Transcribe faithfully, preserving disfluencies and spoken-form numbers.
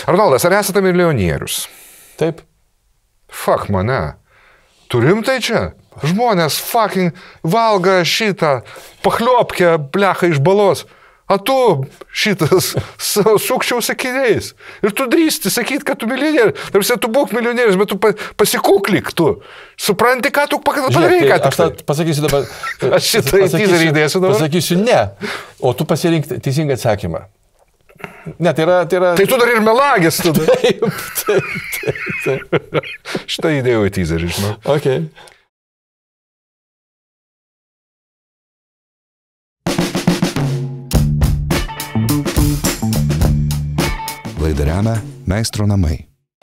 Arnoldas, ar esate milijonierius? Taip. Fuck mane. Turim tai čia? Žmonės fucking valga šitą pachliopkę blecha iš balos. A tu šitas sukčiau sakiniais. Ir tu drįsti sakyti, kad tu milijonierius. Tarsi tu būk milijonierius, bet tu pasikuklik tu. Supranti, ką tu padarai, ką tu. Aš pasakysiu dabar. Aš šitą teaserį įdėsiu dabar. Pasakysiu ne. O tu pasirink teisingą atsakymą. Ne, tai yra... Tai, yra... tai tu dar ir melagis tada. Taip, taip, taip, taip. Šitą įdėjau į teaserį, žinau. Okay. Laidą remia Meistro namai.